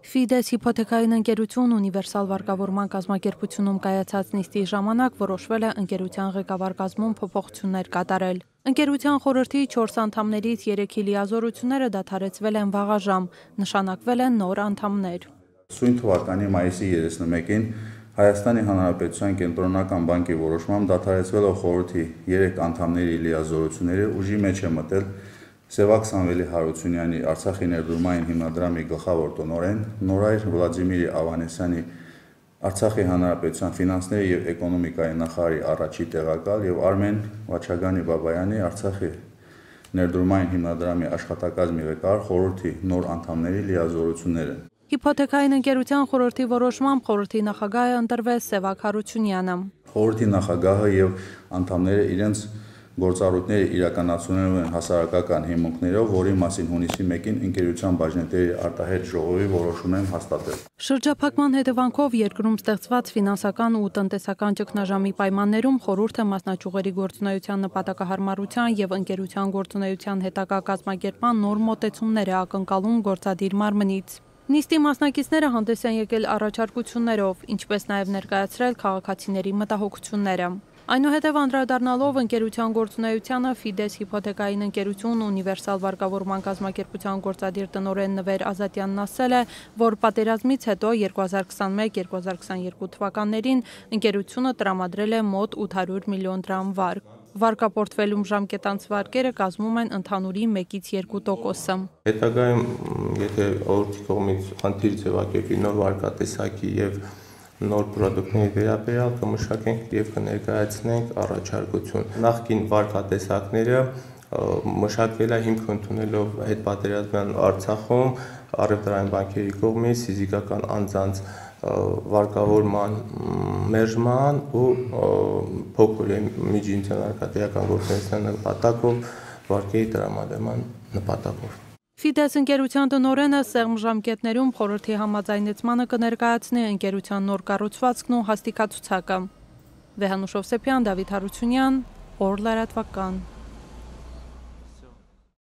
Ֆիդես հիփոթեքային ընկերություն ունիվերսալ վարկավորման կազմակերպությունում կայացած նիստի ժամանակ որոշվել է ընկերության ղեկավար կազմում փոփոխություններ կատարել։ Ընկերության խորհրդի 4 անդամներից 3-ի լիազորությունները դադարեցվել են վաղաժամ, նշանակվել են նոր անդամներ։ Սույն թվականի մայիսի 31-ին Հայաստանի Հանրապետության կենտրոնական բանկի որոշմամբ դադարեցվելով խորհրդի 3 անդամների լիազորությունները ուժի մեջ է մտել Սևակ Սամվելի Հարությունյանի Արցախի ներդրումային հիմնադրամի գլխավոր տնօրեն, Նորայր Վլադիմիրի Ավանեսյանի Արցախի Հանրապետության ֆինանսների եւ էկոնոմիկայի նախարարի առաջի տեղակալ եւ Արմեն Վաչագանի Բաբայանի Արցախի ներդրումային հիմնադրամի աշխատակազմի ղեկավար խորհրդի նոր անդամների լիազորությունները։ Հիփոթեքային ընկերության խորհրդի որոշմամբ խորհրդի նախագահը ընտրվեց Սևակ Հարությունյանը։ Խորհրդի նախագահը եւ անդամները իրենց գործառույթները իրականացնելու են հասարակական հիմունքներով, որի մասին հունիսի 1-ին ընկերության բաժնետերի արտահերթ ժողովի որոշում են հաստատել։ Շրջափակման հետևանքով երկրում ստեղծված ֆինանսական ու տնտեսական ճգնաժամի պայմաններում խորհուրդը մասնաճյուղերի գործունեության նպատակահարմարության եւ ընկերության գործունեության հետագա կազմակերպման նոր մոտեցումներ է ակնկալում գործադիր մարմնից։ Նիստի մասնակիցները հանդես են եկել առաջարկություններով, ինչպես նաև ներկայացրել քաղաքացիների մտահոգությունները։ Այնուհետև անդրադառնալով ընկերության գործունեությանը Ֆիդես հիփոթեքային ընկերություն ունիվերսալ վարկավորման կազմակերպության գործադիր տնօրեն Նվեր Ազատյանն ասել է, որ պատերազմից հետո 2021-2022 թվականներին ընկերությունը տրամադրել է մոտ 800 միլիոն դրամ վարկ։ Վարկապորտֆելում ժամկետանց վարկերը կազմում են ընդհանուրի 1-2%։ Հետագայում, եթե օրենքի կողմից խնդիր ձևակերպի նոր վարկատեսակի եւ նոր պրոդուկտների վերաբերյալ կմշակենք եւ կներկայացնենք առաջարկություն։ Նախկին վարկատեսակները մշակվել է հիմք ընդունելով հետպատերազմյան Արցախում առևտրային բանկերի կողմից ֆիզիկական անձանց վարկավորման մերժման ու փոքր միջինցիոն արկադիական գործունեության նպատակով վարկերի տրամադրման նպատակով։ Ֆիդես ընկերության տնօրենը սեղմ ժամկետներում խորհրդի համաձայնեցմանը կներկայացնի ընկերության նոր կառուցվածքն ու հաստիքացուցակը։ Վեհանուշ Հովսեփյան, Դավիթ Հարությունյան, Օր լրատվական։